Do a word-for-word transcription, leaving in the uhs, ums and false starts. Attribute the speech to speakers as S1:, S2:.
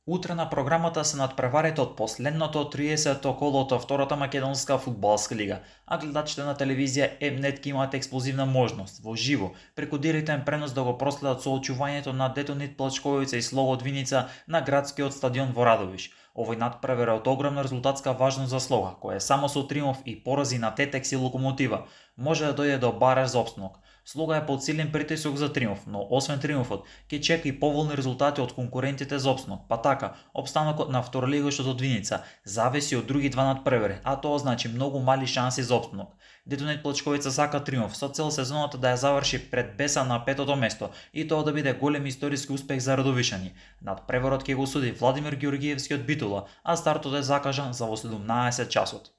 S1: Утре на програмата се надпреварите од последното триесетто коло од втората македонска фудбалска лига, а гледачите на телевизија М-нет ќе имаат експлозивна можност во живо преку директен пренос да го проследат соочувањето на Детонит Плачковица и Слогод Виница на градскиот стадион во Радовиш. Овој надпревар е од огромна резултатска важност за Слога, која само со триумф и порази на Тетекс и Локомотива може да дојде до бараж за опстанок. Слога е под силен притисок за триумф, но освен триумфот, ќе чека и поволни резултати од конкурентите за опстанок. Па така, опстанокот на второлигошот од Виница зависи од други два надпревари, а тоа значи многу мали шанси за опстанок. Детонит Плачковица сака триумф со цел сезоната да ја заврши пред Беса на петото место и тоа да биде голем историски успех за радовишани. Надпреварот ќе го суди Владимир Ѓоргиевски од Битола, а стартот е закажан за во седумнаесет часот.